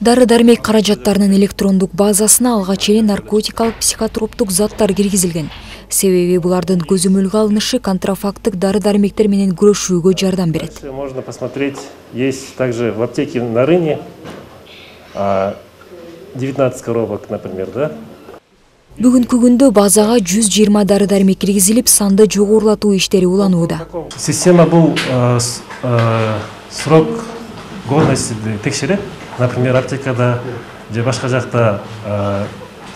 Дары-дармек каражаттарынын электрондук базасына алгач эле наркотикалык психотроптук заттар киргизилген. Себеби булардын көзөмөлгө алынышы контрафакттык дары-дармектер менен күрөшүүгө жардам берет. Можно посмотреть, есть также в аптеке на Рыне 19 коробок, например, да? Бүгүнкү күндө базага 120 дары-дармек киргизилип, санды жогорулатуу иштери уланууда. Система бул срок годности текшерет. Например, аптекада же башка жакта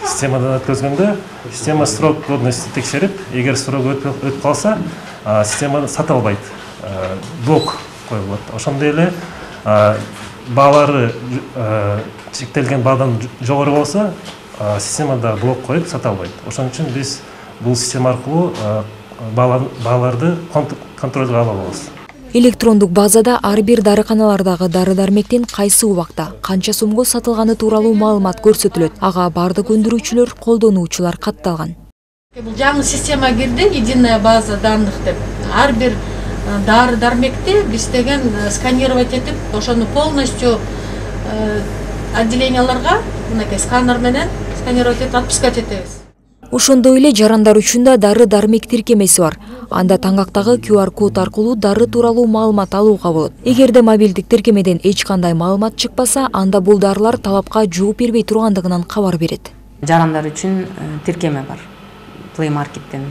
системадан өткөзгөндө система срок годности текшерип, эгер срок өтүп калса, система сатылбайт, блок коюлат. Ошондой эле баалары чектелген баадан жогору болсо, системада блок коюп сата албайт. Ошон үчүн биз бул система аркылуу бааларды контролго ала алабыз. Электрондук базада ар бир дарыканалардагы дары-дармектин кайсы убакта, канча сомго сатылганы тууралуу маалымат көрсөтүлөт. Ага бардык өндүрүүчүлөр, колдонуучулар катталган. Бул жаңы система кирди, единая база данных деп. Ар бир дары-дармекти биз деген сканировать этип, ошону полностью отделенияларга мынакей сканер менен сканировать этип отпускать этебиз. Ошондой эле жарандар үчүн да дары-дармек тиркемеси бар. Анда таңгактагы QR код аркылуу дары тууралуу маалымат алууга болот. Эгерде мобилдик тиркемеден эч кандай маалымат чыкпаса, анда бул дарылар талапка жооп бербей тургандыгынан кабар берет. Жарандар үчүн тиркеме бар. Play Market'тен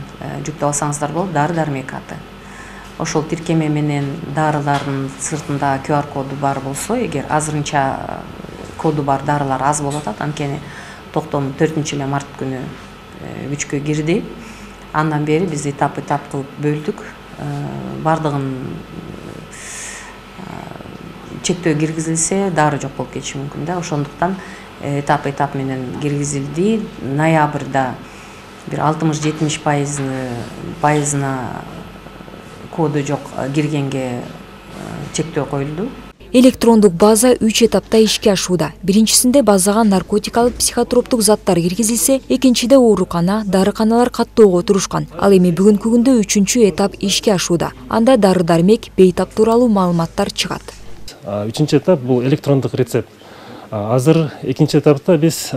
жүктөп алсаңыздар болот, дары-дармек аты. Ошол тиркеме менен дарылардын сыртында QR коду бар болсо, эгер азырынча коду бар дарылар аз болуп атат, анткени токтом 4 март күнү күчкө кирди. Андан бери биз этап кылып бөлдүк. Бардыгын чектөө киргизилсе, дары жок болуп кетиши мүмкүн да. Ошондуктан этап менен киргизилди. Ноябрда бир 60-70% коду жок киргенге чектөө коюлду. Электрондук база 3 этапта ишке ашууда. Биринчисинде базага наркотикалык психотроптук заттар киргизилсе, экинчиде оорукана, дарыканалар каттоого турушкан. Ал эми бүгүнкү күндө 3-чү этап ишке ашууда. Анда дары-дармек, бейтап тууралуу маалыматтар чыгат. 3-чү этап бул электрондук рецепт. Азыр 2-чи этапта биз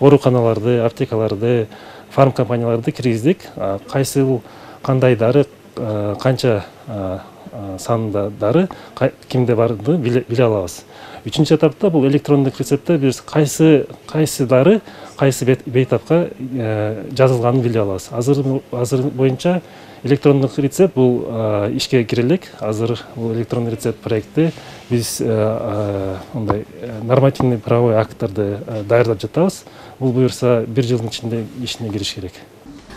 ооруканаларды, аптекаларды, фарм компанияларды киргиздик. Кайсы кандай дары, канча санында дары кимде барды биле алабыз. 3-чү этапта бул электрондук рецептте биз кайсы дары, кайсы бейтапка жазылганын биле алабыз. Азыр боюнча электрондук рецепт бул ишке кире элек. Азыр бул электрондук рецепт проекти биз мындай нормативный правовой акттарды даярдап жатабыз. Бул буюрса 1 жылдын ичинде ишине кириш керек.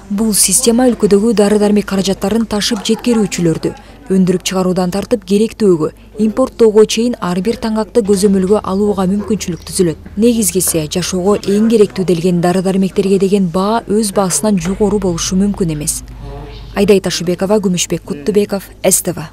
Бул система өлкөдөгү дары-дармек каражаттарын ташып жеткирүүчүлөрдү өндүрүп чыгаруудан тартып керектөөгө, импорттоого чейин ар бир таңгакты көзөмөлгө алууга мүмкүнчүлүк түзүлөт. Негизгиси жашоого эң керектүү делген дары-дармектерге деген баа өз баасынан жогору болушу мүмкүн эмес. Айдай Ташыбекова, Күмүшбек Куттубеков, СТВ.